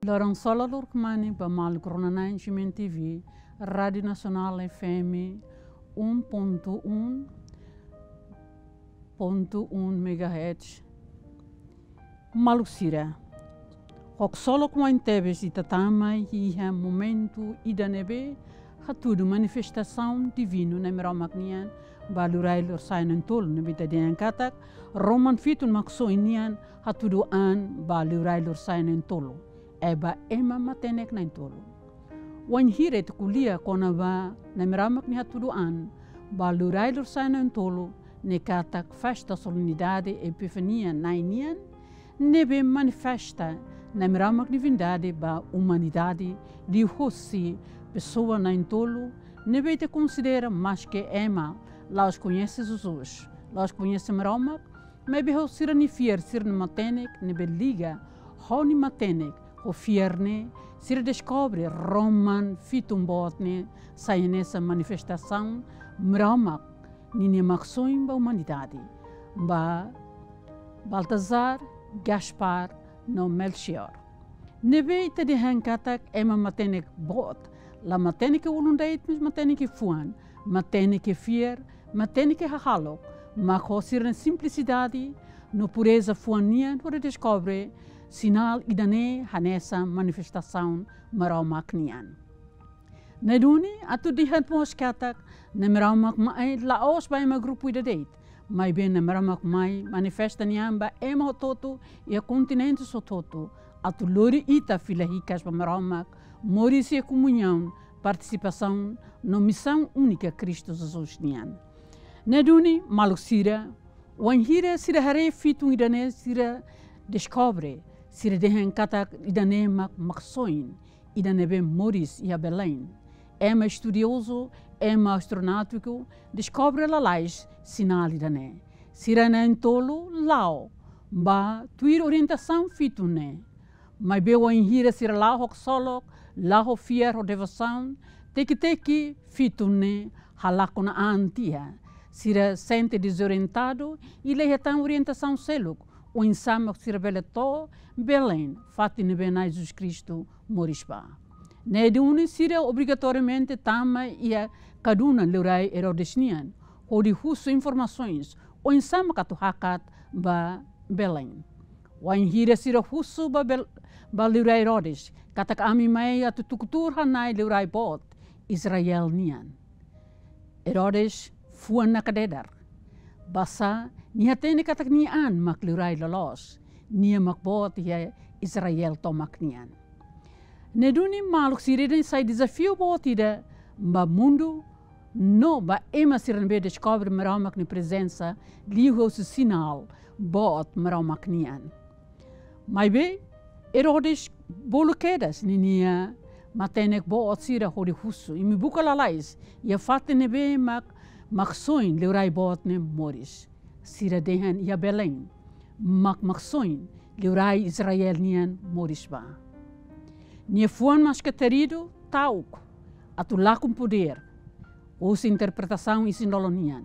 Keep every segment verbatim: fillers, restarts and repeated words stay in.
Loron solo lur kmani ba maluk rona-na'in G M N T V, Rádio Nacional F M um ponto um ponto um megahertz. Maluk sira, haksolok wa'in tebes ita tama iha momentu ida ne'ebé hatudu manifestasaun divinu Nai Maromak nian ba liurai lorosa'e na'in-tolu ne'ebé ita dehan katak Roman fitu Maksoin nian hatudu an ba liurai lorosa'e na'in-tolu. Eba ema matenek na'in-tolu. Wainhira ita ko'alia kona-ba Nai Maromak nia hatudu an ba liurai lorosa'e na'in-tolu ne'e katak festa solenidade Epifania Na'i nian, ne'ebé manifesta Nai Maromak nia divindade ba umanidade liuhosi pesoa na'in-tolu ne'ebé ita konsidera maske ema la'ós koñese Jesus, la'ós koñese Maromak, maibé ho sira-nia fiar, sira-nia matenek ne'ebé liga ho nia matenek ho fiar ne'e, sira deskobre Roman fitu boot ne'e sai hanesan manifestasaun Maromak ninia maksoin ba umanidade, ba Baltazar, Gaspar no Melchior. Ne'ebé ita dehan katak ema matenek boot, la matenek iha ulun de'it, mas matenek iha fuan, matenek iha fiar, matenek iha hahalok, mak ho sira-nia simplisidade no pureza fuan nian hodi deskobre sinál ida-ne'e hanesan manifestasaun Maromak nian. Ne'e duni atu dehan mós katak Nai Maromak mai la'ós ba ema grupu ida de'it, maibé Nai Maromak mai manifesta nia an ba ema hotu-hotu iha kontinente hotu-hotu, atu lori ita fila hikas ba Maromak, moris iha komuñaun, partisipasaun no misaun únika Kristu Jesus nian. Ne'e duni maluk sira, wainhira sira haree fitun ida-ne'e sira deskobre, sira dehan katak ida-ne'e mak maksoin ida ne'ebé moris iha Belém. Ema estudiozu, ema astronáutiku deskobre lalais sinál ida-ne'e. Sira na'in-tolu la'o ba tuir orientasaun fitun ne'e. Maibé wainhira sira la'o haksolok, la'o ho fiar ho devosaun, teki-teki fitun ne'e halakon an tiha. Sira sente dezorientadu i la iha tan orientasaun seluk oinsá mak sira bele to'o Belém, fatin ne'ebé Nai Jesus Kristu moris ba. Ne'e duni sira obrigatoriamente tama iha kadunan liurai Herodes nian, hodi husu informasoens oinsá mak atu hakat ba Belém. Wainhira sira husu ba Bel-, ba liurai Herodes, katak ami mai atu tuku tuur hana'i liurai boot Israel nian. Herodes fuan nakdedar. Basá nia hatene katak nia an mak liurai loloos, nia mak boot iha Israel tomak nian. Ne'e duni maluk sira, ida-ne'e sai dezafiu boot ida ba mundu no ba ema sira ne'ebé deskobre Maromak nia prezensa liuhosi sinál boot Maromak nian. Maibé Herodes bolu kedas ninia matenek boot sira hodi husu, imi buka lalais iha fatin ne'ebé mak maksoin liurai boot ne'e moris. Sira dehan iha Belém mak maksoin liurai Israel nian moris ba. Nia fuan maske-teridu ta'uk atu lakon podér, husi interpretasaun isin-lolon nian.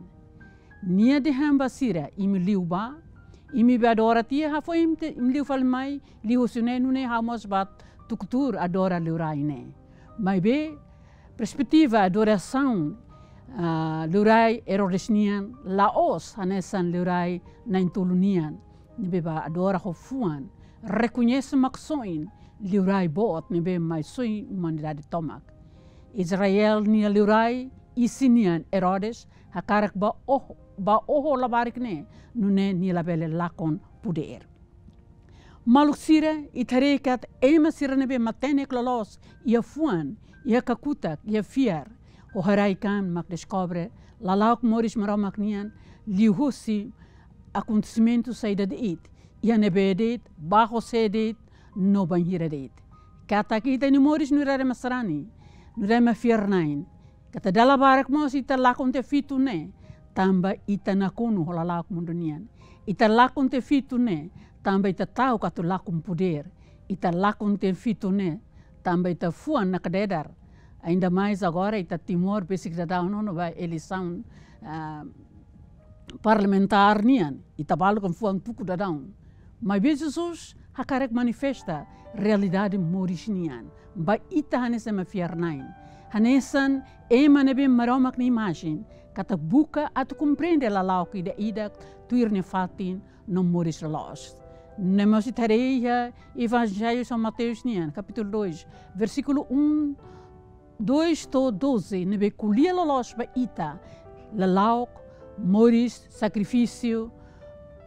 Nia dehan ba sira, imi liu bá, imi bá adora tiha, hafoin imi te-, imi liu fali mai, liuhosi ne'e, nune'e ha'u mós bá tuku tuur adora liurai ne'e. Maibé perspetiva adorasaun, ah, liurai Herodes nian la'ós hanesan liurai na'in-tolu nian ne'ebé bá adora ho fuan, rekoñese maksoin liurai boot ne'ebé mai soi umanidade tomak. Israel nia liurai isin nian Herodes hakarak bá oho, bá oho labarik ne'e, nune'e nia labele lakon podér. Maluk sira, ita haree katak ema sira ne'ebé matenek loloos iha fuan, iha kakutak, iha fiar, ho haraik-an mak deskobre lala'ok moris Maromak nian liuhosi akontesimentu saida de'it, iha ne'ebé de'it, ba ho sé de'it, no bainhira de'it. Katak ita-nia moris nu'udar ema sarani, nu'udar ema fiar-na'in. Katak dala barak mós ita lakon tiha fitun ne'e, tanba ita nakonu ho lala'ok mundu nian. Ita lakon tiha fitun ne'e, tanba ita ta'uk atu lakon podér. Ita lakon tiha fitun ne'e, tanba ita fuan nakdedar. Ainda mais agora ita Timor besik daudaun ona ba eleisaun, ah, parlamentár nian, ita balu kan fuan tuku daudaun. Maibé Jesus hakarak manifesta realidade moris nian ba ita hanesan ema fiar-na'in, hanesan ema ne'ebé Maromak nia imajen, katak buka atu komprende lala'ok ida-idak tuir nia fatin no moris loloos. Ne'e mós ita haree iha Evanjellu São Mateus nian, kapítulu dois, versíkulu um, dois to'o doze, ne'ebé ko'alia loloos ba ita lala'ok, moris, sakrifísiu,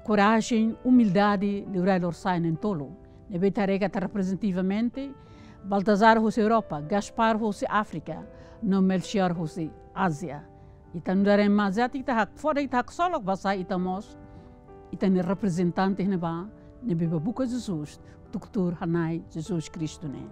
korajen, umildade, liurai lorsai na'in-tolu. Ne'ebé ita haree katak reprezentativamente, Baltazar husi Europa, Gaspar husi Áfrika, no Melchior husi Ázia. Ita nu'udar ema Ázia, ita hak-, fora ita haksolok basá ita mós ita-nia reprezentante ne'ebá, ne'ebé bá buka Jesus, tuku tuur Na'i Jesus Kristu ne'e.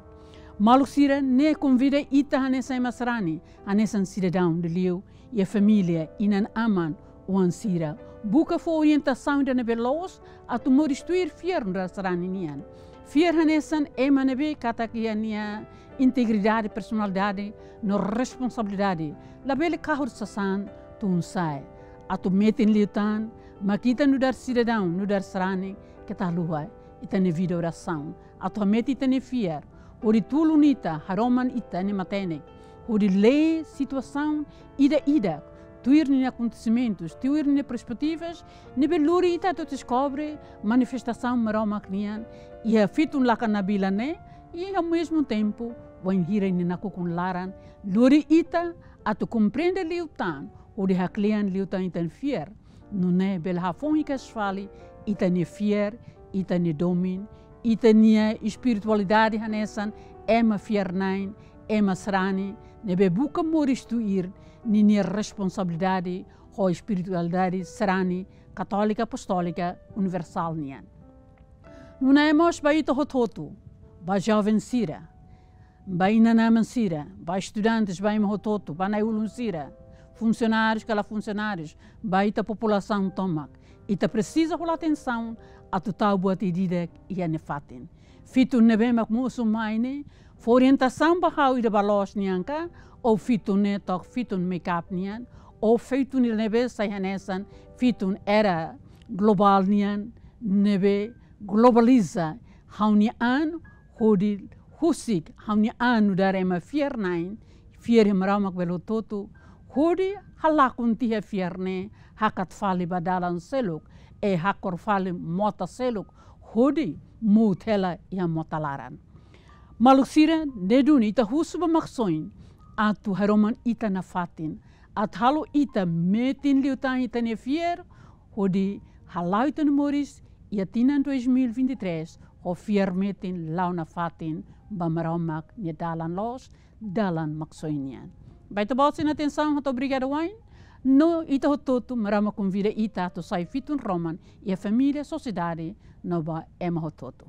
Maluk sira, ne'e konvida ita hanesan ema sarani, hanesan sidadaun Dili, iha família, inan-aman, oan sira, buka fó orientasaun ida ne'ebé loos atu moris tuir fiar nu'udar sarani nian. Fiar hanesan ema ne'ebé katak iha nia integridade, personalidade no responsabilidade, labele kahur sasán tun-sa'e. Atu metin liután, mak ita nu'udar sidadaun, nu'udar sarani, keta haluha ita-nia vida orasaun atu hametin ita-nia fiar, hodi tulun ita, haroman ita-nia matenek, hodi lee situasaun ida-idak, tuir ninia akontesimentus, tuir ninia perspetivas, ne'ebé lori ita atu deskobre manifestasaun Maromak nian iha fitun lakan nabilan ne'e, i ao mesmo tempo, wainhira nia nakukun laran, lori ita atu komprende liután, hodi haklean liután ita-nia fiar. Nune'e bele hafoun hikas fali ita-nia fiar, ita-nia domin, ita-nia espiritualidade hanesan ema fiar-na'in, ema sarani, ne'ebé buka moris tuir ninia responsabilidade ho espiritualidade sarani, katólika, apostólika, universál nian. Nune'e mós ba ita hotu-hotu, ba joven sira, ba inan-aman sira, ba estudantes, ba ema hotu-hotu, ba na'i-ulun sira, funsionárius ka la funsionárius, ba ita populasaun tomak. Ita presiza hola atensaun atu tau buat ida-idak iha nia fatin. Fitun ne'ebé mak mosu mai ne'e, fó orientasaun ba ha'u ida ba loos nian ka, ou fitun ne'e to'o fitun make-up nian, ou fitun ida ne'ebé sai hanesan fitun era globál nian, ne'ebé globaliza ha'u-nia an, hodi husik ha'u-nia an nu'udar ema fiar-na'in, fiar iha Maromak belo hotu-hotu, hodi halakon tiha fiar ne'e, hakat fali ba dalan seluk, i hakor fali mota seluk, hodi muut hela iha mota laran. Maluk sira, ne'e duni ita husu ba Maksoin atu haroman ita nafatin, atu halo ita metin liután ita-nia fiar, hodi hala'o ita-nia moris iha tinan dois mil e vinte e três, ho fiar metin la'o nafatin ba Maromak nia dalan loos, dalan Maksoin nian. Ba ita-boot sira-nia atensaun, hato'o obrigada wa'in, no ita hotu-hotu Maromak konvida ita atu sai fitun roman iha família, sosiedade, no ba ema hotu-hotu.